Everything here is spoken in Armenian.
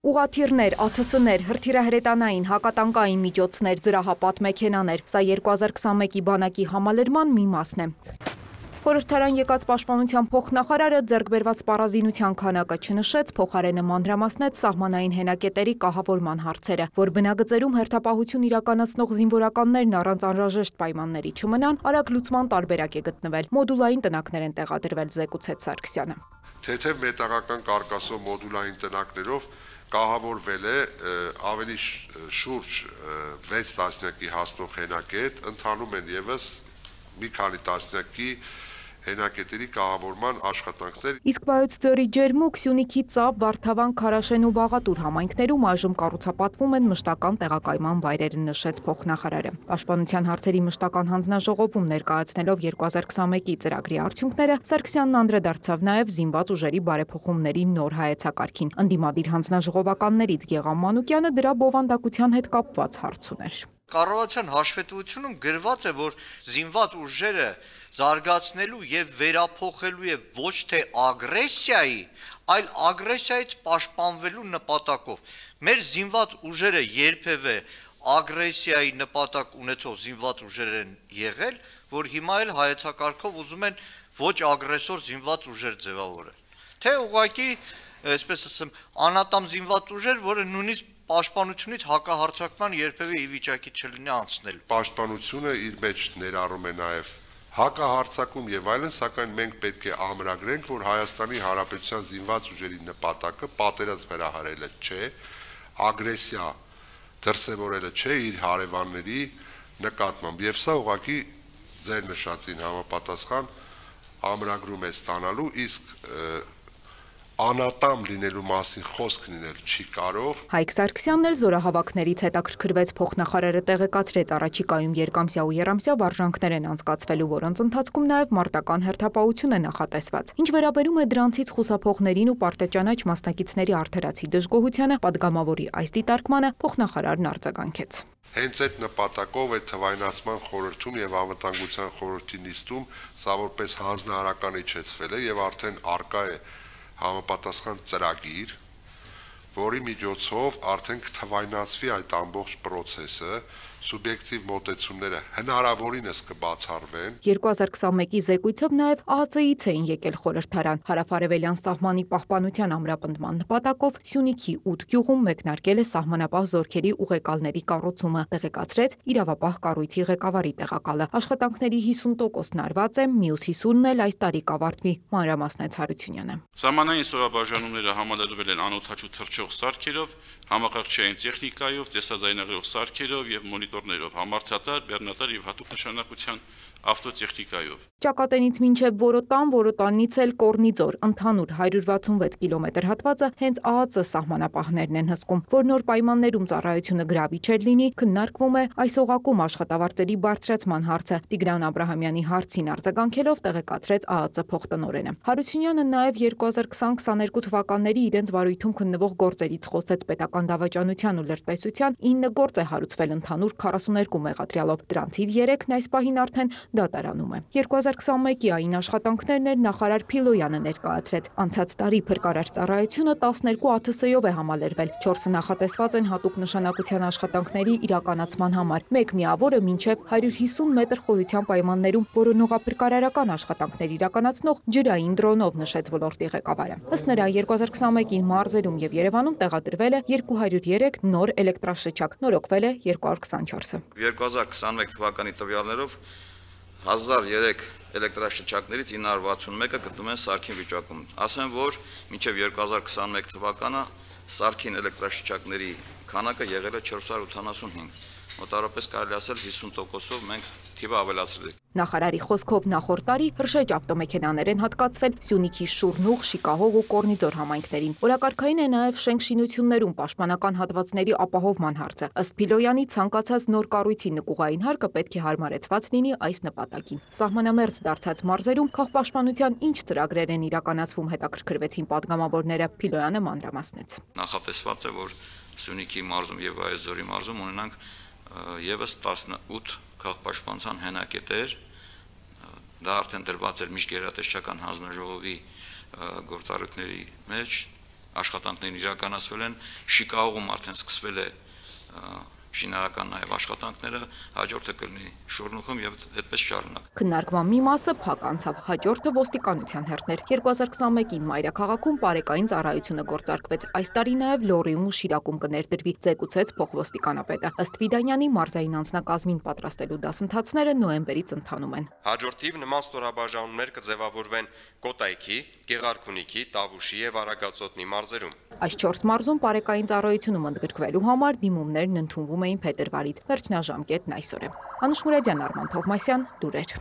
Ուղաթիռներ, ԱԹՍ-ներ, հրթիռահրետանային, հակատանկային միջոցներ, զրահապատ մեքենաներ, սա 2021-ի բանակի համալրման մի մասն է։ Խորհրդարան եկած պաշտպանության փոխնախարարը ձեռք բերված պարազինության քանակը չնշեց, փոխարենը մանրամասնեց սահմանային հենակետերի կահավորման հարցերը, որ բնագծերում հերթապահություն իրականացնող զինվորականներն առանց անհրաժեշտ պայմանների չմնան, արագ լուծման տարբերակ է գտնվել, մոդուլային տնակներ են տեղադրվել, զեկուցեց Սարգսյանը։ Թեթև մետաղական կարկասով մոդուլային տնակներով կահավորվել է ավելի շուրջ 6 տասնյակի հասնող հենակետ, ընթանում են ևս մի քանի տասնյակի հենակետերի կահավորման աշխատանքներ։ Իսկ Վայոց ձորի Ջերմուկ, Սյունիքի Ծափ, Վարդավան, Քարաշեն ու Բաղատուր համայնքներում այժմ կառուցապատվում են մշտական տեղակայման վայրերը, նշեց փոխնախարարը։ Պաշտպանության հարցերի մշտական հանձնաժողովում ներկայացնելով 2021-ի ծրագրի արդյունքները, Սարգսյանն անդրադարձավ նաև զինված ուժերի բարեփոխումների նոր հայեցակարգին։ Ընդդիմադիր հանձնաժողովականներից Գեղամ Մանուկյանը դրա բովանդակության հետ կապված հարց ուներ։ Կառավարության հաշվետվությունում գրված է, որ զինված ուժերը զարգացնելու եւ վերափոխելու է ոչ թե ագրեսիայի, այլ ագրեսիայից պաշտպանվելու նպատակով։ Մեր զինված ուժերը երբևէ ագրեսիայի նպատակ ունեցող զինված ուժեր են եղել, որ հիմա էլ հայեցակարգով ուզում են ոչ ագրեսոր զինված ուժեր ձևավորել։ Թե ուղղակի, այսպես ասեմ, անատամ զինված ուժեր, որը նույնիսկ պաշտպանությունից հակահարձակման երբևէ ի վիճակի չլինի անցնել։ Պաշտպանությունը իր մեջ ներառում է նաև հակահարձակում եւ այլն, սակայն մենք պետք է ամրագրենք, որ Հայաստանի Հանրապետության զինված ուժերի նպատակը պատերազմ հրահարելը չէ, ագրեսիա դրսևորելը չէ իր հարևանների նկատմամբ, եւ սա ուղղակի ձեր նշածին համապատասխան ամրագրում է ստանալու, իսկ անատամ լինելու մասին խոսք լինել չի կարող։ Հայկ Սարգսյանն էլ զորահավաքներից հետաքրքրվեց, փոխնախարարը տեղեկացրեց առաջիկայում երկամսյա ու եռամսյա վարժանքներ են անցկացվելու, որոնց ընթացքում նաև մարտական հերթապահություն է նախատեսված։ Ինչ վերաբերում է դրանցից խուսափողներին ու պարտեճանաչ մասնակիցների արդարացի դժգոհությանը, падգամավորի այս դիտարկմանը փոխնախարարն արձագանքեց։ Հենց այդ նպատակով է թվայնացման խորհրդում եւ անվտանգության խորհրդի նիստում սա որպես հանձնարարական իջեցվել է եւ արդեն արկա է համապատասխան ծրագիր, որի միջոցով արդեն կթվայնացվի այդ ամբողջ process-ը, սուբյեկտիվ մոտեցումները հնարավորինս կբացառվեն։ 2021-ի զեկույցով նաև ԱԱԾ-ից էին եկել խորհրդարան։ Հարավարևելյան սահմանի պահպանության ամրապնդման նպատակով Սյունիքի 8 գյուղում մեկնարկել է սահմանապահ զորքերի ուղեկալների կառուցումը, տեղեկացրեց իրավապահ կառույցի ղեկավարի տեղակալը։ Աշխատանքների 50%-ն արված է, մյուս 50%-ն էլ այս տարի կավարտվի, մանրամասնեց Հարությունյանը։ Սահմանային ստորաբաժանումները համալրվել են անօդաչու թռչող սարքերով, համակարգչային տեխնիկայով, տեսաձայնագրող սարքերով եւ մոնիտորներով, համարձատար, բեռնատար եւ հատուկ նշանակության ավտոտեխնիկայով։ Ճակատենից մինչև Որոտան, Որոտանից էլ Կորնիձոր, ընդհանուր 166 կիլոմետր հատվածը հենց ԱԱԾ սահմանապահներն են հսկում, որ նոր պայմաններում ծառայությունը գրավիչ լինի, քննարկվում է այս օղակում աշխատավարձերի բարձրացման հարցը։ Տիգրան Աբրահամյանի հարցին արձագանքելով տեղեկացրեց ԱԱԾ փոխտնօրենը։ Հարությունյանը նաև 2020-22 թվականների իրենց վարույթում քննվող գործերից խոսեց պետական դավաճանության ու լրտեսության 9 գործ է հարուցվել ընդհանուր 42 մեղադրյալով, դրանցից 3-ն այս պահին արդեն դատարանում է։ 2021-ի այն աշխատանքներն էր նախարար Փիլոյանը ներկայացրեց։ Անցած տարի փրկարար ծառայությունը 12 ԱԹՍ-ով է համալրվել, 4-ը նախատեսված են հատուկ նշանակության աշխատանքների իրականացման համար, մեկ միավորը մինչև 150 մետր խորության պայմաններում որոնողափրկարարական աշխատանքներ իրականացնող ջրային դրոնով, նշեց ոլորտի ղեկավարը։ Ըստ նրա 2021-ի մարզերում եւ Երևանում տեղադրվել է 203 նոր էլեկտրաշչակ, նորոգվել է 224-ը։ 2021 թվականի տվյալներով 1003 էլեկտրաշչակներից 961-ը գտնվում են սարքին վիճակում։ Ասեմ, որ մինչև 2021 թվականը սարքին էլեկտրաշչակների քանակը եղել է 485։ Մոտավորապես կարելի ասել 50%-ով մենք թիվը ավելացրել ենք։ Նախարարի խոսքով նախորդ տարի հրշեջ ավտոմեքենաներ են հատկացվել Սյունիքի Շուրնուղ, Շիկահող ու Կորնիձոր համայնքներին։ Օրակարգային է նաև շենք-շինություններում պաշտպանական հատվածների ապահովման հարցը։ Ըստ Փիլոյանի ցանկացած նոր կառույցի նկուղային հարկը պետք է հարմարեցված լինի այս նպատակին։ Սահմանամերձ դարձած մարզերում քաղաքապաշտպանության ինչ ծրագրեր են իրականացվում, հետաքրքրվեցին падգամավորները։ Փիլոյանը մանրամասնեց։ Նախատեսված է, որ Սյունիքի մարզում եւ Վայոց ձորի մարզում ունենանք եւս 18 քաղաքապաշտպանության հենակետեր, դա արդեն դրված էր միջգերատեսչական հանձնաժողովի գործառույթների մեջ, աշխատանքներն իրականացվել են, Շիկագոում արդեն սկսվել է շինարական նաև աշխատանքները, հաջորդը կլինի Շորնուխում եւ այդպես շարունակ։ Քննարկման մի մասը փակ անցավ, հաջորդը ոստիկանության հերթներ։ 2021-ին Մայրաքաղաքում պարեկային ծառայությունը գործարկվեց։ Այս տարի նաև Լոռիում ու Շիրակում կներդրվի, զեկուցեց փոխոստիկանապետը։ Ըստ Վիդանյանի, մարզային անձնակազմին պատրաստելու դասընթացները նոյեմբերից ընթանում են։ Հաջորդիվ նման ստորաբաժանումներ կձևավորվեն Կոտայքի, Գեղարքունիքի, Տավուշի եւ Արագածոտնի մարզերում։ Այս 4 մարզում պարեկային ծառայությունում ընդգրկվելու համար դիմումներն ընդունվում էին փետրվարից։ Վերջնաժամկետն այսօր է։ Անուշ Մուրադյան, Արման Թովմասյան, լուրեր։